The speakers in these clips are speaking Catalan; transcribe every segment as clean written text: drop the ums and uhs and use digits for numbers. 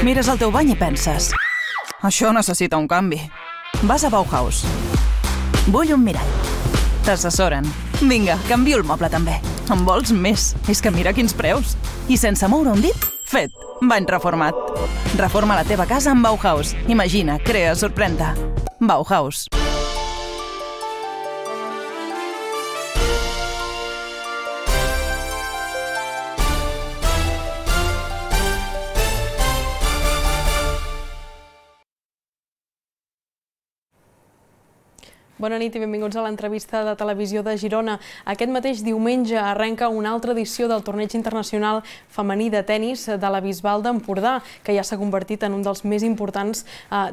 Mires el teu bany i penses: això necessita un canvi. Vas a Bauhaus. Vull un mirall. T'assessoren. Vinga, canvio el moble també. En vols més? És que mira quins preus. I sense moure un dit, fet. Bany reformat. Reforma la teva casa amb Bauhaus. Imagina, crea, sorprèn-te. Bauhaus. Bona nit i benvinguts a l'entrevista de Televisió de Girona. Aquest mateix diumenge arrenca una altra edició del Torneig Internacional Femení de Tenis de la Bisbal d'Empordà, que ja s'ha convertit en un dels més importants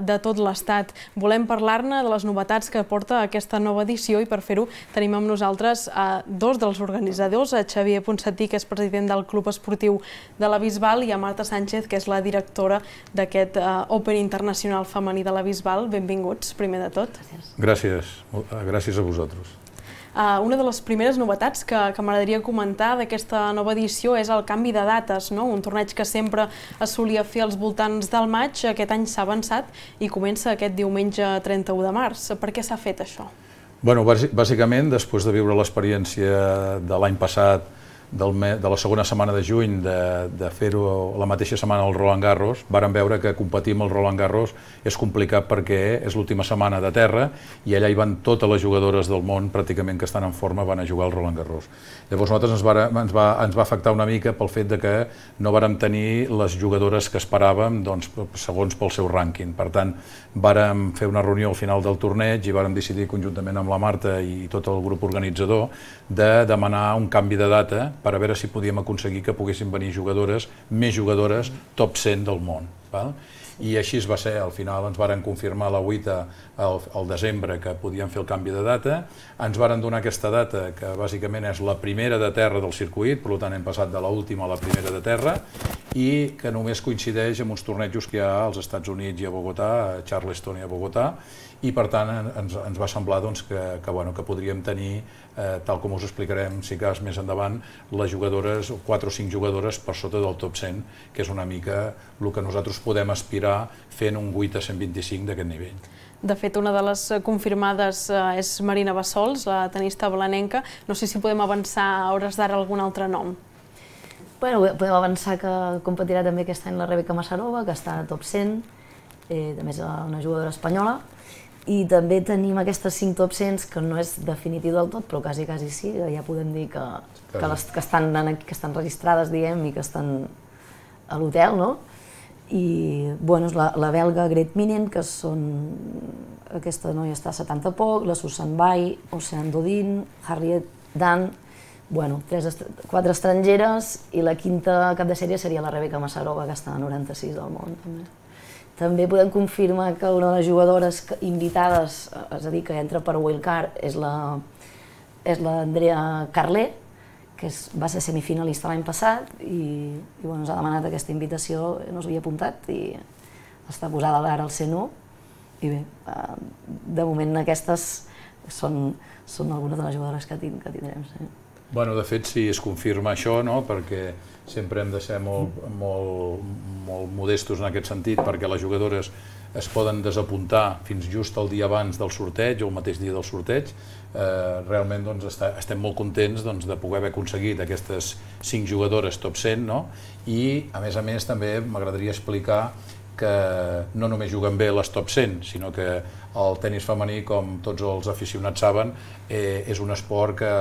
de tot l'Estat. Volem parlar-ne de les novetats que porta aquesta nova edició i per fer-ho tenim amb nosaltres dos dels organitzadors, a Xavier Ponsatí, que és president del Club Esportiu de la Bisbal, i a Marta Sánchez, que és la directora d'aquest Open Internacional Femení de la Bisbal. Benvinguts, primer de tot. Gràcies. Gràcies a vosaltres. Una de les primeres novetats que m'agradaria comentar d'aquesta nova edició és el canvi de dates. Un torneig que sempre es solia fer als voltants del maig, aquest any s'ha avançat i comença aquest diumenge 31 de març. Per què s'ha fet això? Bé, bàsicament, després de viure l'experiència de l'any passat, de la segona setmana de juny, de fer-ho la mateixa setmana al Roland Garros, vàrem veure que competir amb el Roland Garros és complicat perquè és l'última setmana de terra i allà hi van totes les jugadores del món pràcticament que estan en forma van a jugar al Roland Garros. Llavors nosaltres ens va afectar una mica pel fet que no vàrem tenir les jugadores que esperàvem segons pel seu rànquing. Per tant, vàrem fer una reunió al final del torneig i vàrem decidir conjuntament amb la Marta i tot el grup organitzador de demanar un canvi de data per a veure si podíem aconseguir que poguessin venir més jugadores top 100 del món. I així va ser, al final ens varen confirmar la 8 al desembre que podíem fer el canvi de data, ens varen donar aquesta data que bàsicament és la primera de terra del circuit, per tant hem passat de l'última a la primera de terra, i que només coincideix amb uns tornejos que hi ha als Estats Units i a Bogotà, a Charleston i a Bogotà, i per tant ens va semblar que podríem tenir, tal com us explicarem si cas més endavant, les jugadores, 4 o 5 jugadores per sota del top 100, que és una mica el que nosaltres podem aspirar fent un 8 a 125 d'aquest nivell. De fet, una de les confirmades és Marina Bassols, la tenista blanenca. No sé si podem avançar a hores d'ara algun altre nom. Podem avançar que competirà també aquest any la Rebeca Masarova, que està a top 100, també és una jugadora espanyola. I també tenim aquestes 5 top 100 que no és definitiu del tot, però quasi sí, ja podem dir que estan registrades, diguem, i que estan a l'hotel, no? I és la belga Grete Minen, que aquesta noia està a 70 poc, la Susan Bai, Oceane Dodin, Harriet Dan, 4 estrangeres, i la 5a cap de sèrie seria la Rebeca Masarova, que està a 96 del món. També podem confirmar que una de les jugadores invitades, és a dir, que entra per wildcard, és l'Andrea Carlé, que va ser semifinalista l'any passat i ens ha demanat aquesta invitació, no s'havia apuntat i està posada ara al C1. I bé, de moment aquestes són algunes de les jugadores que tindrem. De fet, sí, es confirma això, perquè sempre hem de ser molt modestos en aquest sentit, perquè les jugadores es poden desapuntar fins just el dia abans del sorteig o el mateix dia del sorteig. Realment estem molt contents de poder haver aconseguit aquestes 5 jugadores top 100 i, a més, també m'agradaria explicar que no només juguen bé les top 100, sinó que el tenis femení, com tots els aficionats saben, és un esport que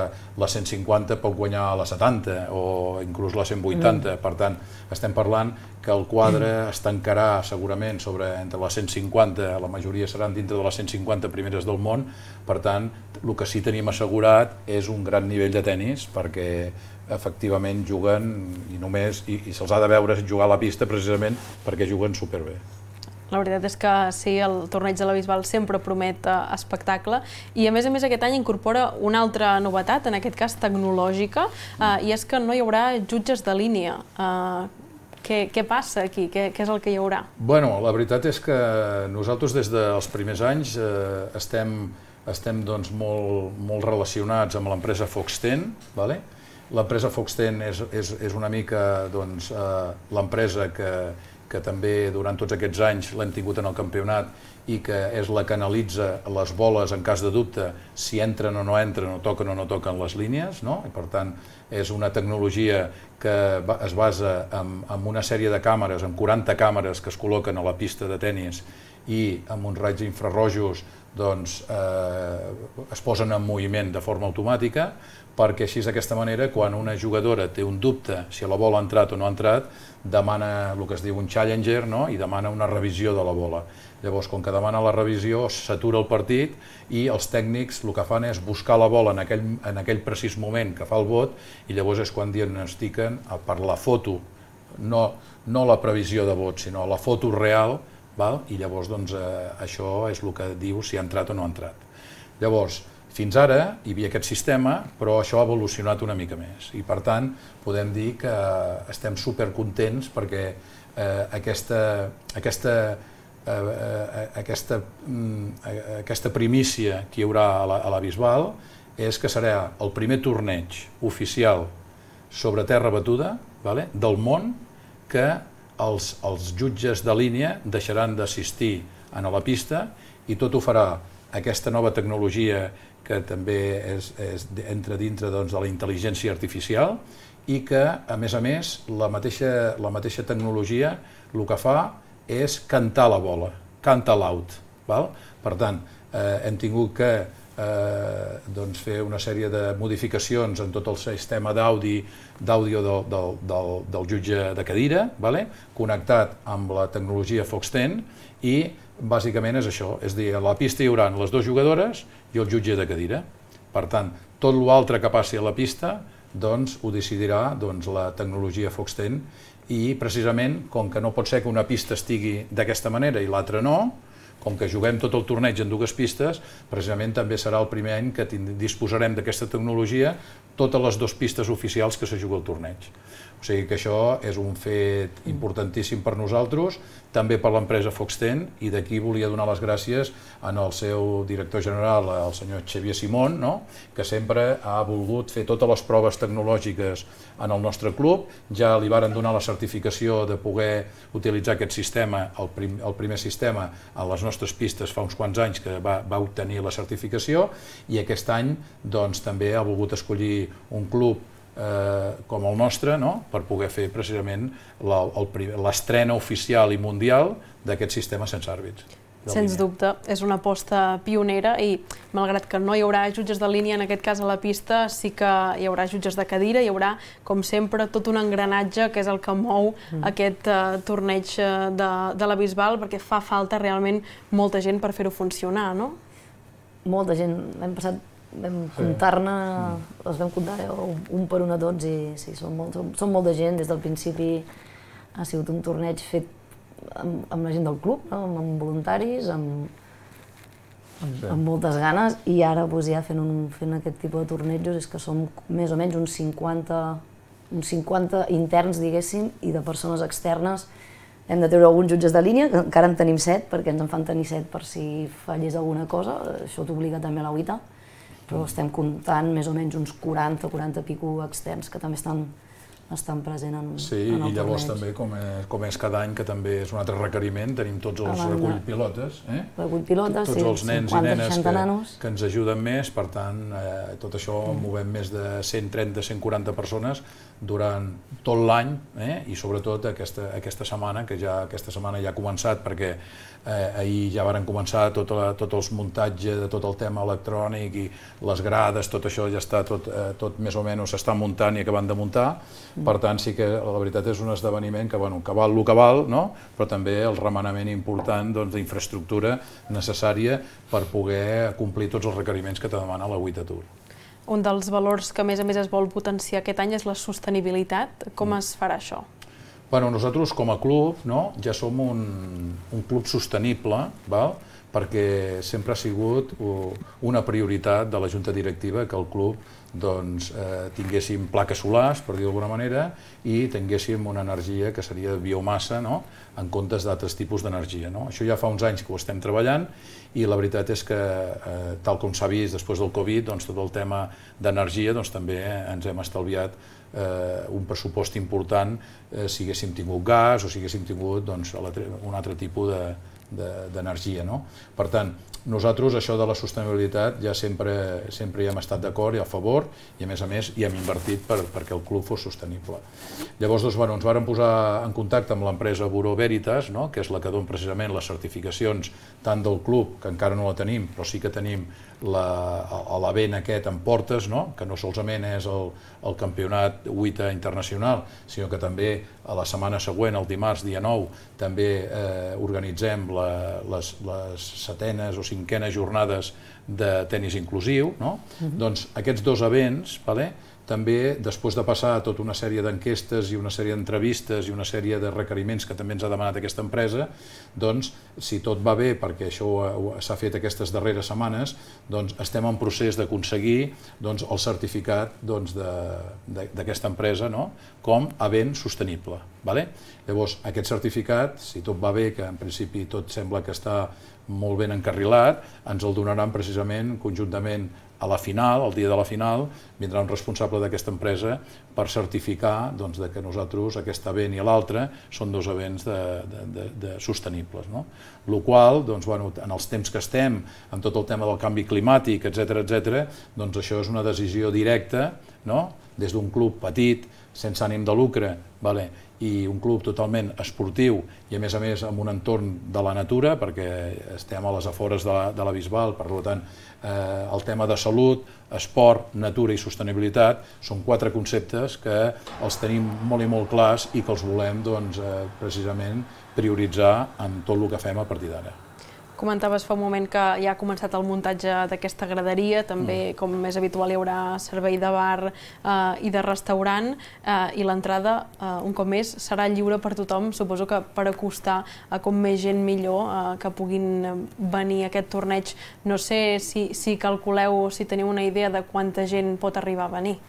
la 150 pot guanyar a la 70 o inclús la 180. Per tant, estem parlant que el quadre es tancarà segurament entre les 150, la majoria seran dintre de les 150 primeres del món. Per tant, el que sí tenim assegurat és un gran nivell de tenis, perquè efectivament juguen i se'ls ha de veure jugar a la pista precisament perquè juguen superbé. La veritat és que sí, el torneig de la Bisbal sempre promet espectacle i a més aquest any incorpora una altra novetat, en aquest cas tecnològica, i és que no hi haurà jutges de línia. Què passa aquí? Què és el que hi haurà? La veritat és que nosaltres des dels primers anys estem molt relacionats amb l'empresa Fox-Ten. L'empresa Fox-Ten és una mica l'empresa que que també durant tots aquests anys l'hem tingut en el campionat i que és la que analitza les boles en cas de dubte, si entren o no entren, o toquen les línies, no? I per tant és una tecnologia que es basa en una sèrie de càmeres, en 40 càmeres que es col·loquen a la pista de tennis i amb uns raigs infrarrojos doncs, es posen en moviment de forma automàtica, perquè així d'aquesta manera, quan una jugadora té un dubte si la bola ha entrat o no ha entrat, demana el que es diu un challenger, no? I demana una revisió de la bola. Llavors, com que demana la revisió, s'atura el partit i els tècnics el que fan és buscar la bola en aquell precís moment que fa el vot i llavors és quan diagnostiquen per la foto, no la previsió de vot, sinó la foto real, i llavors això és el que diu si ha entrat o no ha entrat. Llavors, fins ara hi havia aquest sistema, però això ha evolucionat una mica més i per tant podem dir que estem supercontents perquè aquesta primícia que hi haurà a la Bisbal és que serà el primer torneig oficial sobre terra batuda del món que els jutges de línia deixaran d'assistir a la pista i tot ho farà aquesta nova tecnologia que també entra dintre de la intel·ligència artificial i que, a més, la mateixa tecnologia el que fa és cantar la bola, canta l'out. Per tant, hem tingut que fer una sèrie de modificacions en tot el sistema d'àudio del jutge de cadira, connectat amb la tecnologia Fox-10 i bàsicament és això, és a dir, a la pista hi haurà les dues jugadores i el jutge de cadira. Per tant, tot l'altre que passi a la pista ho decidirà la tecnologia Fox-10 i precisament, com que no pot ser que una pista estigui d'aquesta manera i l'altra no, com que juguem tot el torneig en dues pistes, precisament també serà el primer any que disposarem d'aquesta tecnologia totes les dues pistes oficials que se juga el torneig. O sigui que això és un fet importantíssim per nosaltres, també per l'empresa Fox-10, i d'aquí volia donar les gràcies al seu director general, el senyor Xavier Simón, que sempre ha volgut fer totes les proves tecnològiques en el nostre club. Ja li varen donar la certificació de poder utilitzar aquest sistema, el primer sistema, a les nostres pistes fa uns quants anys que va obtenir la certificació, i aquest any també ha volgut escollir un club com el nostre per poder fer precisament l'estrena oficial i mundial d'aquest sistema sense àrbits. Sens dubte, és una aposta pionera i, malgrat que no hi haurà jutges de línia, en aquest cas a la pista, sí que hi haurà jutges de cadira, hi haurà, com sempre, tot un engranatge que és el que mou aquest torneig de la Bisbal, perquè fa falta realment molta gent per fer-ho funcionar, no? Molta gent. L'any passat vam comptar-ne, els vam comptar un per un a tots i sí, són molta gent. Des del principi ha sigut un torneig fet amb la gent del club, amb voluntaris, amb moltes ganes, i ara ja fent aquest tipus de tornejos és que som més o menys uns 50 interns, diguéssim, i de persones externes. Hem de treure alguns jutges de línia, que encara en tenim 7, perquè ens en fan tenir 7 per si fallés alguna cosa, això t'obliga també a la UITA, però estem comptant més o menys uns 40 i pico externs que també estan presents en el torneig. Sí, i llavors també, com és cada any, que també és un altre requeriment, tenim tots els recull-pilotes, tots els nens i nenes que ens ajuden més, per tant, tot això movem més de 130-140 persones durant tot l'any i sobretot aquesta setmana, que aquesta setmana ja ha començat perquè ahir ja varen començar tot el muntatge de tot el tema electrònic i les grades, tot això ja està, tot més o menys s'està muntant i acabant de muntar. Per tant, sí que la veritat és un esdeveniment que val el que val, però també el remenament important d'infraestructura necessària per poder complir tots els requeriments que te demana la WTA Tour. Un dels valors que a més es vol potenciar aquest any és la sostenibilitat. Com es farà això? Nosaltres com a club ja som un club sostenible, perquè sempre ha sigut una prioritat de la Junta Directiva que el club tinguéssim plaques solars, per dir-ho d'alguna manera, i tinguéssim una energia que seria de biomassa en comptes d'altres tipus d'energia. Això ja fa uns anys que ho estem treballant i la veritat és que, tal com s'ha vist després del Covid, tot el tema d'energia també ens hem estalviat un pressupost important si haguéssim tingut gas o si haguéssim tingut un altre tipus d'energia. Per tant, nosaltres això de la sostenibilitat ja sempre hi hem estat d'acord i a favor, i a més hi hem invertit perquè el club fos sostenible. Llavors ens vàrem posar en contacte amb l'empresa Bureau Veritas, que és la que dona precisament les certificacions tant del club, que encara no la tenim, però sí que tenim l'event aquest en portes, que no solament és el campionat WITA internacional, sinó que també a la setmana següent, el dimarts, dia 9, també organitzem les setenes o cinquenes jornades de tenis inclusiu. Doncs aquests dos events, també, després de passar tota una sèrie d'enquestes i una sèrie d'entrevistes i una sèrie de requeriments que també ens ha demanat aquesta empresa, doncs, si tot va bé, perquè això s'ha fet aquestes darreres setmanes, doncs estem en procés d'aconseguir el certificat d'aquesta empresa com a event sostenible. Llavors, aquest certificat, si tot va bé, que en principi tot sembla que està molt ben encarrilat, ens el donaran precisament conjuntament a la final, el dia de la final, vindrà un responsable d'aquesta empresa per certificar que nosaltres, aquest event i l'altre, són dos events sostenibles. El qual, en els temps que estem, amb tot el tema del canvi climàtic, etc., doncs això és una decisió directa, des d'un club petit, sense ànim de lucre, i un club totalment esportiu i a més amb un entorn de la natura, perquè estem a les afores de la Bisbal, per tant el tema de salut, esport, natura i sostenibilitat són quatre conceptes que els tenim molt i molt clars i que els volem precisament prioritzar en tot el que fem a partir d'ara. Comentaves fa un moment que ja ha començat el muntatge d'aquesta graderia, també, com és habitual, hi haurà servei de bar i de restaurant, i l'entrada, un cop més, serà lliure per tothom, suposo que per acostar a com més gent millor que puguin venir a aquest torneig. No sé si calculeu, si teniu una idea de quanta gent pot arribar a venir.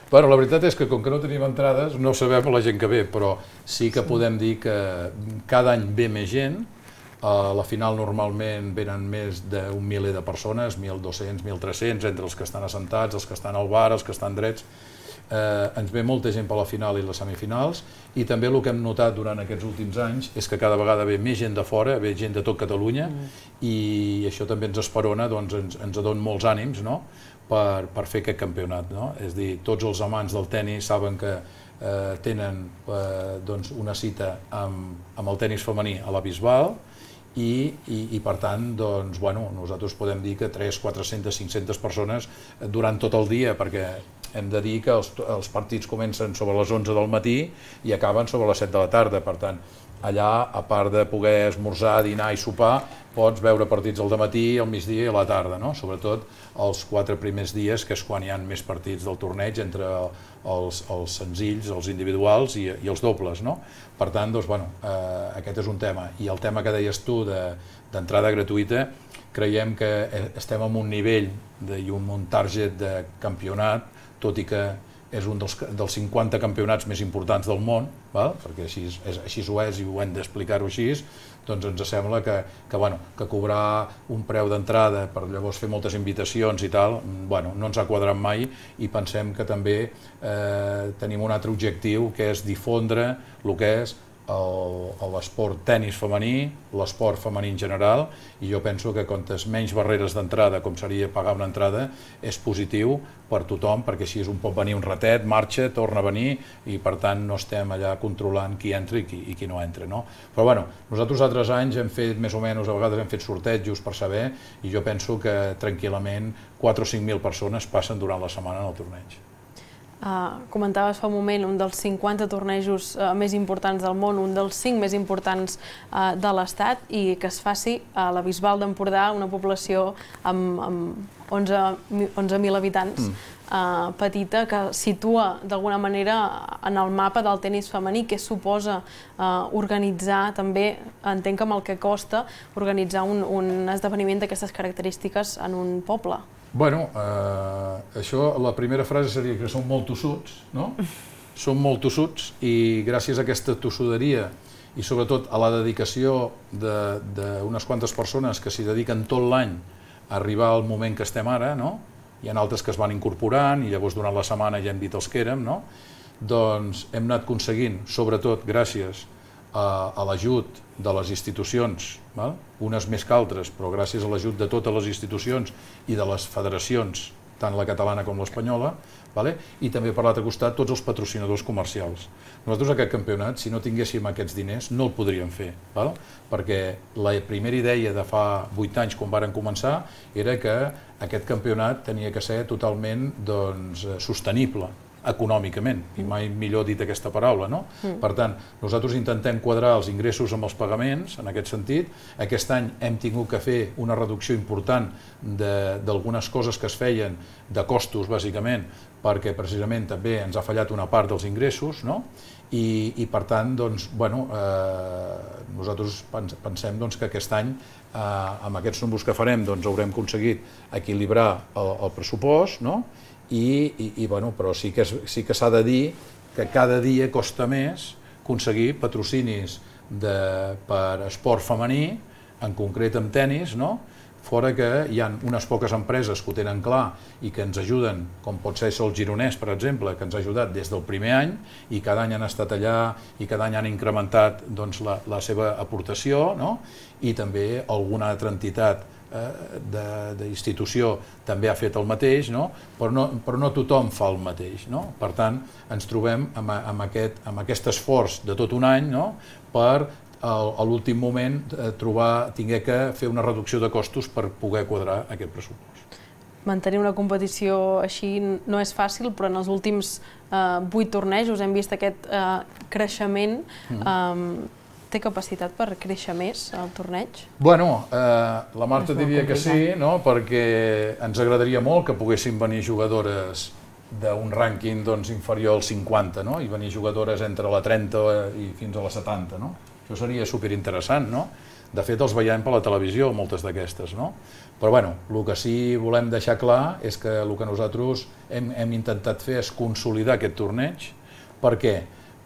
Bueno, la veritat és que com que no tenim entrades no sabem la gent que ve, però sí que podem dir que cada any ve més gent. A la final normalment venen més d'un miler de persones, 1.200, 1.300, entre els que estan assentats, els que estan al bar, els que estan drets. Ens ve molta gent per la final i les semifinals, i també el que hem notat durant aquests últims anys és que cada vegada ve més gent de fora, ve gent de tot Catalunya, i això també ens esperona, ens dona molts ànims per fer aquest campionat. És a dir, tots els amants del tenis saben que tenen una cita amb el tenis femení a la Bisbal, i per tant nosaltres podem dir que 300, 400, 500 persones durant tot el dia, perquè hem de dir que els partits comencen sobre les 11 del matí i acaben sobre les 7 de la tarda. Per tant, allà, a part de poder esmorzar, dinar i sopar, pots veure partits al dematí, al migdia i a la tarda, sobretot els 4 primers dies, que és quan hi ha més partits del torneig, entre els senzills, els individuals i els dobles. Per tant, aquest és un tema. I el tema que deies tu d'entrada gratuïta, creiem que estem en un nivell i un target de campionat, tot i que és un dels 50 campionats més importants del món, perquè així ho és i ho hem d'explicar-ho així, doncs ens sembla que cobrar un preu d'entrada per llavors fer moltes invitacions i tal, no ens ha quadrat mai, i pensem que també tenim un altre objectiu, que és difondre el que és l'esport tenis femení, l'esport femení en general, i jo penso que quantes menys barreres d'entrada, com seria pagar una entrada, és positiu per tothom, perquè així pot venir un ratet, marxa, torna a venir, i per tant no estem allà controlant qui entra i qui no entra. Però nosaltres altres anys hem fet més o menys, a vegades hem fet sortejos per saber, i jo penso que tranquil·lament 4 o 5.000 persones passen durant la setmana en el torneig. Comentaves fa un moment un dels 50 tornejos més importants del món, un dels 5 més importants de l'Estat, i que es faci a la Bisbal d'Empordà, una població amb 11.000 habitants, petita, que situa d'alguna manera en el mapa del tenis femení. Què suposa organitzar també, entenc que amb el que costa, organitzar un esdeveniment d'aquestes característiques en un poble? Bueno, això, la primera frase seria que som molt tossuts, no? Som molt tossuts, i gràcies a aquesta tossuderia i sobretot a la dedicació d'unes quantes persones que s'hi dediquen tot l'any a arribar al moment que estem ara, hi ha altres que es van incorporant i llavors durant la setmana ja hem dit els que érem, no? Doncs hem anat aconseguint, sobretot gràcies a l'ajut de les institucions, unes més que altres, però gràcies a l'ajut de totes les institucions i de les federacions, tant la catalana com l'espanyola, i també per l'altre costat tots els patrocinadors comercials. Nosaltres aquest campionat, si no tinguéssim aquests diners, no el podríem fer, perquè la primera idea de fa 8 anys, quan varen començar, era que aquest campionat tenia que ser totalment sostenible econòmicament, i mai millor dit aquesta paraula, no? Per tant, nosaltres intentem quadrar els ingressos amb els pagaments, en aquest sentit. Aquest any hem tingut que fer una reducció important d'algunes coses que es feien, de costos, bàsicament, perquè precisament també ens ha fallat una part dels ingressos, no? I per tant, nosaltres pensem que aquest any, amb aquests números que farem, haurem aconseguit equilibrar el pressupost, no? Però sí que s'ha de dir que cada dia costa més aconseguir patrocinis per esport femení, en concret amb tenis, fora que hi ha unes poques empreses que ho tenen clar i que ens ajuden, com pot ser el Gironès, per exemple, que ens ha ajudat des del primer any i cada any han estat allà i cada any han incrementat la seva aportació, i també alguna altra entitat d'institució també ha fet el mateix, però no tothom fa el mateix. Per tant, ens trobem amb aquest esforç de tot un any per a l'últim moment haver que fer una reducció de costos per poder quadrar aquest pressupost. Mantenir una competició així no és fàcil, però en els últims 8 tornejos hem vist aquest creixement. Té capacitat per créixer més el torneig? Bueno, la Marta diria que sí, perquè ens agradaria molt que poguessin venir jugadores d'un rànquing inferior al 50 i venir jugadores entre la 30 i fins a la 70. Això seria superinteressant. De fet, els veiem per la televisió, moltes d'aquestes. Però el que sí volem deixar clar és que el que nosaltres hem intentat fer és consolidar aquest torneig. Per què?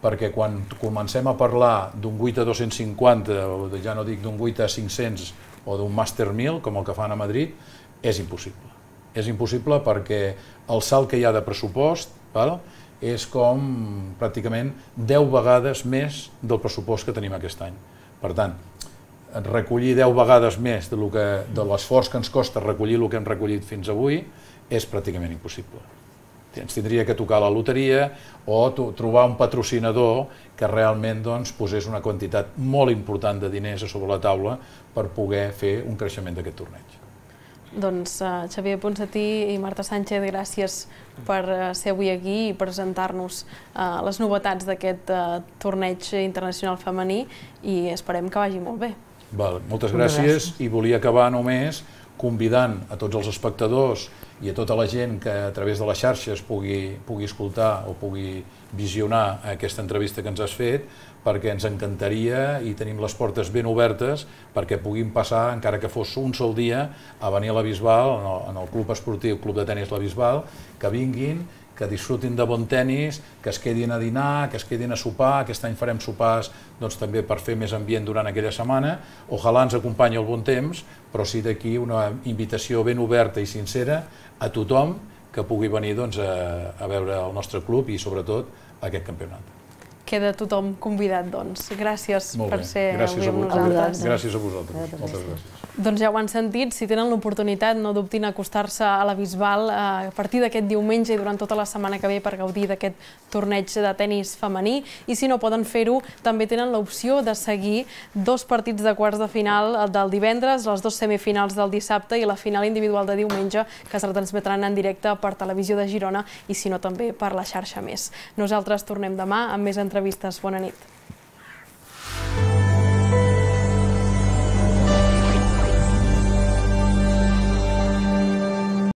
Perquè quan comencem a parlar d'un 8 a 250, o ja no dic d'un 8 a 500 o d'un Màster 1000, com el que fan a Madrid, és impossible. És impossible perquè el salt que hi ha de pressupost és com pràcticament 10 vegades més del pressupost que tenim aquest any. Per tant, recollir 10 vegades més de l'esforç que ens costa recollir el que hem recollit fins avui és pràcticament impossible. Ens tindria que tocar la loteria o trobar un patrocinador que realment posés una quantitat molt important de diners a sobre la taula per poder fer un creixement d'aquest torneig. Doncs Xavier Ponsatí i Marta Sánchez, gràcies per ser avui aquí i presentar-nos les novetats d'aquest torneig internacional femení i esperem que vagi molt bé. Moltes gràcies i volia acabar només convidant a tots els espectadors i a tota la gent que a través de les xarxes pugui escoltar o pugui visionar aquesta entrevista que ens has fet, perquè ens encantaria i tenim les portes ben obertes perquè puguin passar, encara que fos un sol dia, a venir a la Bisbal, en el Club Esportiu Club de Tenis La Bisbal, que vinguin, que disfrutin de bon tenis, que es quedin a dinar, que es quedin a sopar. Aquest any farem sopars també per fer més ambient durant aquella setmana. Ojalà ens acompanyi el bon temps, però sí d'aquí una invitació ben oberta i sincera a tothom que pugui venir a veure el nostre club i sobretot aquest campionat. Queda tothom convidat, doncs. Gràcies per ser avui amb nosaltres. Gràcies a vosaltres. Moltes gràcies. Doncs ja ho han sentit, si tenen l'oportunitat no dubtin a acostar-se a la Bisbal a partir d'aquest diumenge i durant tota la setmana que ve per gaudir d'aquest torneig de tenis femení, i si no poden fer-ho també tenen l'opció de seguir 2 partits de quarts de final del divendres, les 2 semifinals del dissabte i la final individual de diumenge, que es retransmetran en directe per Televisió de Girona i si no també per la xarxa Més. Nosaltres tornem demà amb més entrevistes. Bona nit.